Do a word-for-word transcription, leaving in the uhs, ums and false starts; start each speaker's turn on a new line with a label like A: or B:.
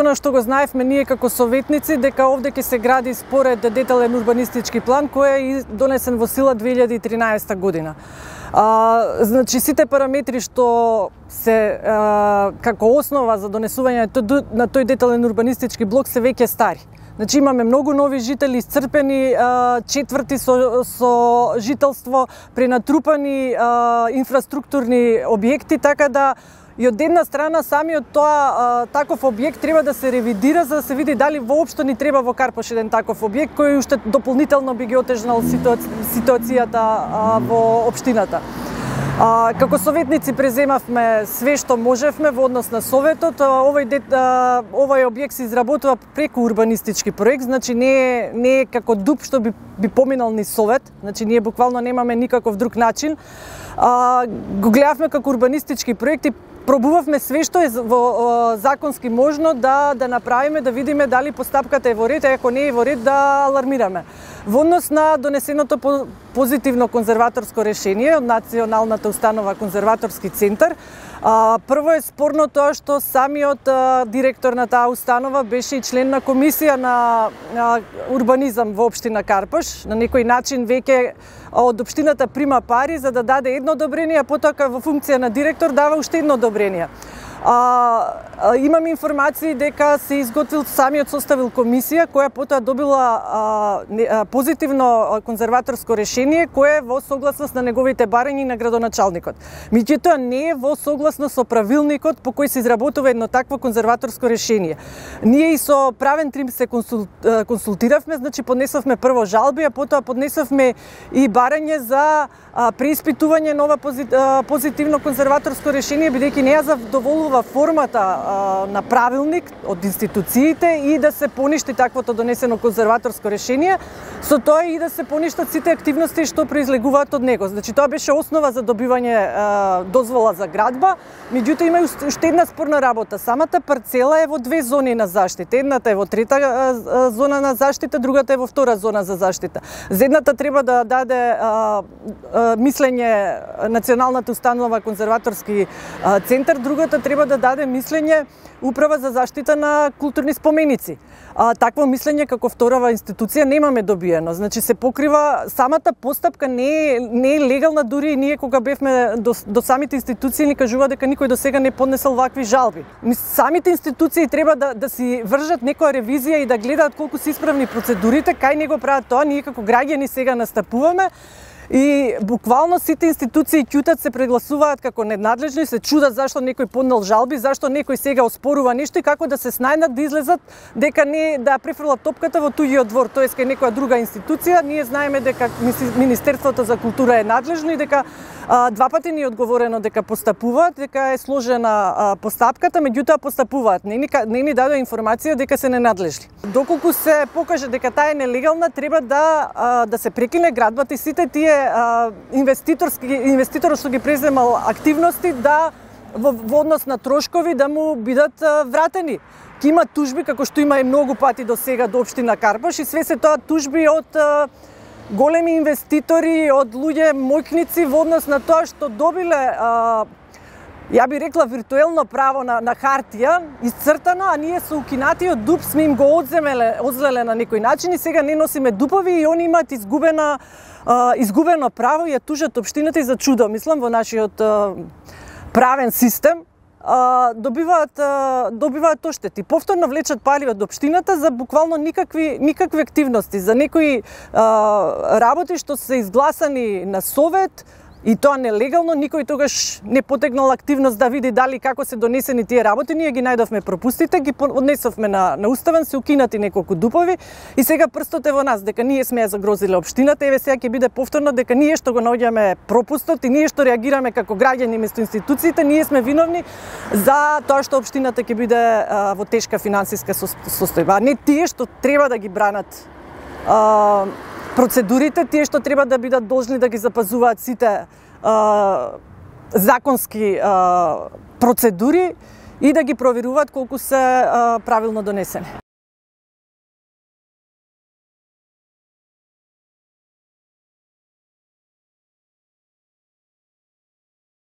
A: Она што го знаевме ние како советници, дека овде ќе се гради според детален урбанистички план кој е донесен во сила две илјади и тринаесетта година. А, значи сите параметри што се а, како основа за донесување на тој детален урбанистички блок се веќе стари. Значи имаме многу нови жители, исцрпени а, четврти со, со жителство, пренатрупани а, инфраструктурни објекти, така да и од една страна самиот тоа а, таков објект треба да се ревидира за да се види дали воопшто ни треба во Карпош еден таков објект кој уште дополнително би ги отежнал ситуаци... ситуацијата а, во општината. А, како советници преземавме све што можевме во однос на советот. Овој дет, а, овој објект се изработува преку урбанистички проект, значи не е не е како ДУП што би би поминал ни совет, значи ние буквално немаме никаков друг начин. А, го гледавме како урбанистички проект и пробувавме све што е во законски можно да да направиме, да видиме дали постапката е во ред, а ако не е во ред да алармираме. Во однос на донесеното позитивно конзерваторско решение од Националната установа конзерваторски центар, а, прво е спорно тоа што самиот а, директор на таа установа беше и член на комисија на а, урбанизам во општина Карпош. На некој начин веќе од општината прима пари за да даде едно одобрение, а потоа во функција на директор дава уште едно одобрение. А, а, имам информации дека се изготвил самиот составил комисија која потоа добила а, не, а, позитивно конзерваторско решение кое е во согласност на неговите барања и на градоначалникот. Меѓутоа не е во согласност со правилникот по кој се изработува едно такво конзерваторско решение. Ние и со правен трим се консул, консултиравме, значи поднесовме прво жалби, а потоа поднесовме и барање за а, преиспитување нова позит, а, позитивно конзерваторско решение, бидејќи не ја задоволува формата а, на правилник од институциите и да се поништи таквото донесено конзерваторско решение, со тоа и да се поништат сите активности што произлегуваат од него. Значи тоа беше основа за добивање а, дозвола за градба, меѓутоа има уште една спорна работа. Самата парцела е во две зони на заштита. Едната е во трета а, зона на заштита, другата е во втора зона за заштита. За едната треба да даде а, а, мислење Националната установа конзерваторски а, центар, другата треба да даде мислење Управа за заштита на културни споменици. А, такво мислење како вторава институција немаме добиено. Значи се покрива самата постапка не е, не е легална, дури и ние кога бевме до, до самите институции ни кажува дека никој до сега не поднесел вакви жалби. Самите институции треба да, да си вржат некоја ревизија и да гледаат колку се исправни процедурите, кај него прават тоа, ние како граѓани сега настапуваме. И буквално сите институции ќутат, се прегласуваат како ненадлежни, се чудат зашто некој поднел жалби, зашто некој сега оспорува нешто и како да се снајдат да излезат дека не да префрлат топката во туѓиот двор, тоест кај некоја друга институција. Ние знаеме дека Министерството за култура е надлежно и дека а, два пати ни е одговорено дека постапуваат, дека е сложена а, постапката, меѓутоа постапуваат. Не ни, не ни дадоа информација дека се ненадлежни. Доколку се покаже дека таа е нелегална, треба да а, да се прекине градбата и сите тие инвеститорски инвеститорот што ги преземал активности да во, во однос на трошкови да му бидат вратени. Ки има тужби како што има и многу пати до сега до општина Карпош и све се тоа тужби од а, големи инвеститори, од луѓе мојкници во однос на тоа што добиле а, ја би рекла виртуелно право на, на хартија, исцртано, а ние со укинатиот ДУП сме им го одземеле, одзеле на некој начин и сега не носиме дупови и они имаат изгубена Uh, изгубено право и ја тужат општината и за чудо, мислам, во нашиот uh, правен систем, uh, добиваат uh, добиваат оштети. Повторно влечат пари од општината за буквално никакви никакви активности, за некои uh, работи што се изгласани на совет, и тоа нелегално, никој тогаш не потегнал активност да види дали како се донесени тие работи. Ние ги најдовме пропустите, ги однесовме на, на уставен, се укинати неколку дупови и сега прстот е во нас, дека ние сме ја загрозиле општината. Еве сега ќе биде повторно дека ние што го наоѓаме пропустот и ние што реагираме како граѓани место институциите, ние сме виновни за тоа што општината ќе биде а, во тешка финансиска состојба, а не тие што треба да ги бранат а, процедурите, тие што треба да бидат должни да ги запазуваат сите а, законски а, процедури и да ги проверуваат колку се а, правилно донесени.